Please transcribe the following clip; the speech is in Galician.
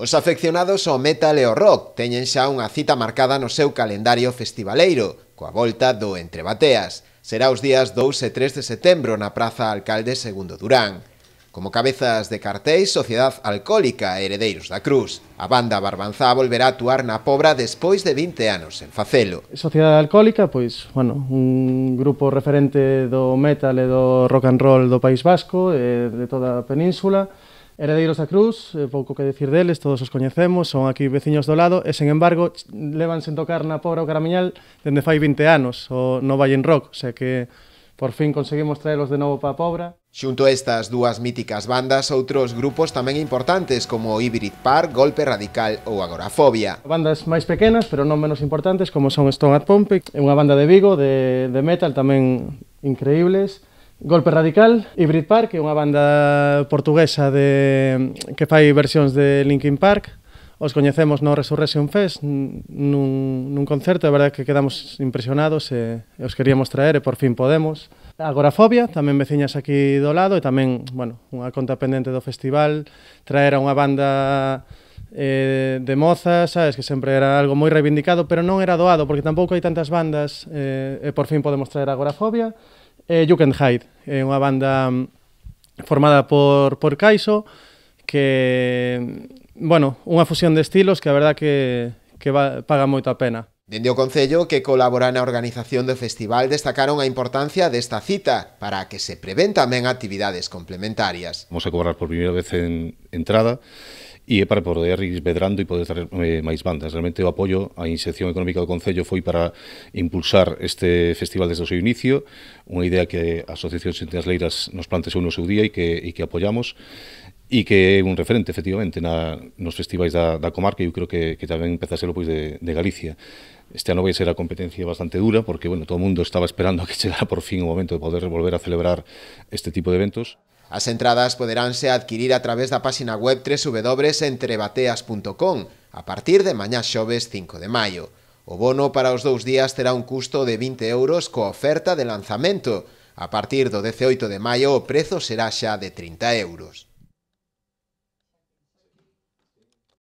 Os afeccionados ao metal e ao rock teñen xa unha cita marcada no seu calendario festivaleiro, coa volta do Entre Bateas. Será os días 2 e 3 de setembro na Praza Alcalde II Durán. Como cabezas de cartéis, Sociedade Alcohólica e Heredeiros da Cruz. A banda Barbanzá volverá a actuar na Pobra despois de 20 anos en facelo. Sociedade Alcohólica, pois, un grupo referente do metal e do rock and roll do País Vasco e de toda a península. Heredeiros da Cruz, pouco que decir deles, todos os coñecemos, son aquí veciños do lado e, sen embargo, levan sen tocar na Pobra o Caramiñal dende fai 20 anos, no Valle en Rock, o sea que por fin conseguimos traelos de novo para a Pobra. Xunto a estas dúas míticas bandas, outros grupos tamén importantes como Hybrid Park, Golpe Radical ou Agorafobia. Bandas máis pequenas, pero non menos importantes, como son Stone at Pompeii, unha banda de Vigo, de metal, tamén increíbles. Golpe Radical, Hybrid Park, que é unha banda portuguesa que fai versións de Linkin Park. Os coñecemos no Resurrection Fest nun concerto, a verdade que quedamos impresionados e os queríamos traer e por fin podemos. Agorafobia, tamén veciñas aquí do lado e tamén, unha conta pendente do festival, traer a unha banda de mozas, sabes, que sempre era algo moi reivindicado, pero non era doado, porque tampouco hai tantas bandas e por fin podemos traer Agorafobia. You Can Hide, é unha banda formada por Kaiso, que, unha fusión de estilos que a verdad que paga moito a pena. Dende o Concello, que colabora na organización do festival, destacaron a importancia desta cita para que se prevén tamén actividades complementarias. Vamos a cobrar por primeira vez en entrada e para poder ir medrando e poder traer máis bandas. Realmente o apoio á inserción económica do Concello foi para impulsar este festival desde o seu inicio, unha idea que a Asociación Sentinasleiras nos plantexou no seu día e que apoiamos, e que é un referente, efectivamente, nos festivais da comarca, e eu creo que tamén empeza a ser pois, de Galicia. Este ano vai ser a competencia bastante dura, porque todo o mundo estaba esperando a que chegara por fin o momento de poder volver a celebrar este tipo de eventos. As entradas poderánse adquirir a través da páxina web www.entrebateas.com a partir de mañá xoves 5 de maio. O bono para os 2 días terá un custo de 20 euros coa oferta de lanzamento. A partir do 18 de maio o prezo será xa de 30 euros.